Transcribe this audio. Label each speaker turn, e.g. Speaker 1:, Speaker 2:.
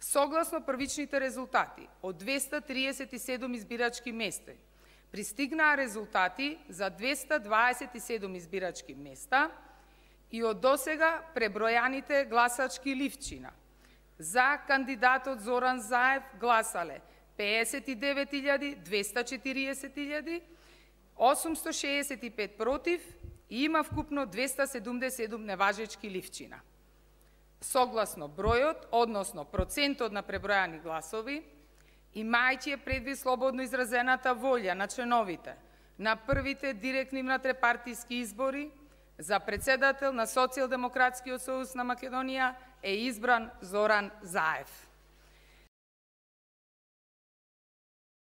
Speaker 1: Согласно првичните резултати од 237 избирачки места, пристигнаа резултати за 227 избирачки места и од досега пребројаните гласачки ливчина. За кандидатот Зоран Заев гласале 59.240.865 против и има вкупно 277 неважечки ливчина. Согласно бројот, односно процентот на пребројани гласови, имајќи предвид слободно изразената волја на членовите на првите директни внатрепартиски избори, за председател на Социјалдемократскиот сојуз на Македонија е избран Зоран Заев.